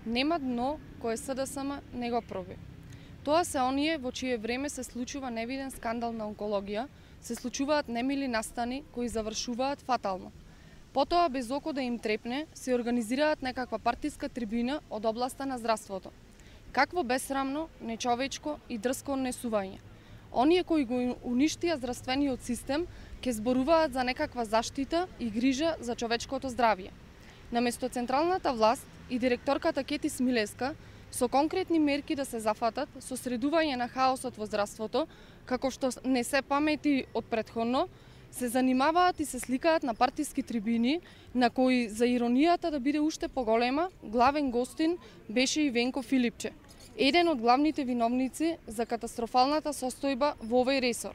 Нема дно кое СДСМ не го проби. Тоа се оние во чие време се случува невиден скандал на онкологија, се случуваат немили настани кои завршуваат фатално. Потоа, без око да им трепне, се организираат некаква партиска трибина од областа на здравството. Какво бесрамно, нечовечко и дрско однесување. Оние кои го уништија здравствениот систем, ке зборуваат за некаква заштита и грижа за човечкото здравје. Наместо централната власт и директорката Кети Смилеска, со конкретни мерки да се зафатат со средување на хаосот во здравството, како што не се памети од претходно, се занимаваат и се сликаат на партиски трибини, на кои, за иронијата да биде уште поголема, главен гостин беше и Венко Филипче, еден од главните виновници за катастрофалната состојба во овој ресор.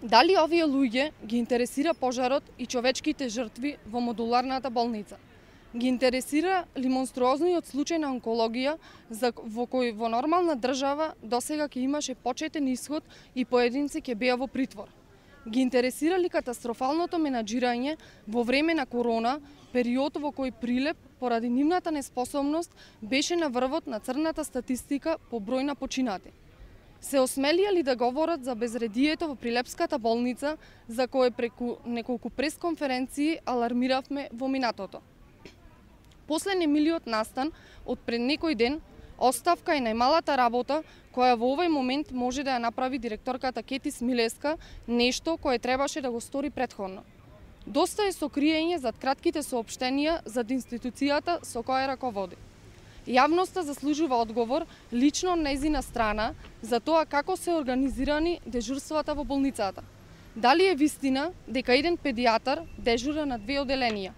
Дали овие луѓе ги интересира пожарот и човечките жртви во модуларната болница? Ги интересира ли монструозниот случај на онкологија во кој во нормална држава досега ќе имаше почетен исход и поединци ќе беа во притвор? Ги интересира ли катастрофалното менаџирање во време на корона, период во кој Прилеп, поради нивната неспособност, беше на врвот на црната статистика по број на починати? Се осмелија ли да говорат за безредието во Прилепската болница, за кое преку неколку пресконференции алармиравме во минатото? После немилиот настан од пред некој ден, оставка е најмалата работа која во овој момент може да ја направи директорката Кети Смилеска, нешто кое требаше да го стори претходно. Доста е сокриење зад кратките соопштенија зад институцијата со која раководи. Јавноста заслужува одговор лично од нејзина страна за тоа како се организирани дежурствата во болницата. Дали е вистина дека еден педијатар дежура на 2 оделенија?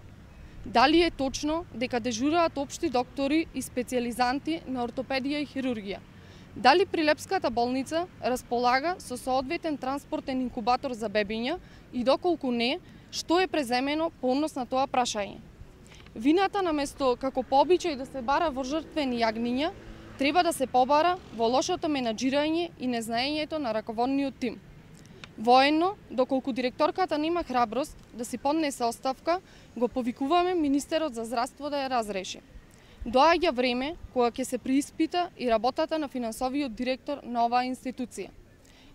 Дали е точно дека дежураат општи доктори и специјализанти на ортопедија и хирургија? Дали Прилепската болница располага со соодветен транспортен инкубатор за бебиња и доколку не, што е преземено по однос на тоа прашање? Вината наместо како по обичај да се бара во жртвени јагниња, треба да се побара во лошото менаџирање и незнаењето на раководниот тим. Воено, доколку директорката нема храброст да си поднесе оставка, го повикуваме министерот за здравство да ја разреши. Доаѓа време кога ќе се преиспита и работата на финансовиот директор на оваа институција.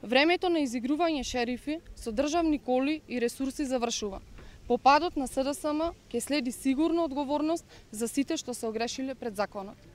Времето на изигрување шерифи со државни коли и ресурси завршува. По падот на СДСМ ќе следи сигурно одговорност за сите што се огрешиле пред законот.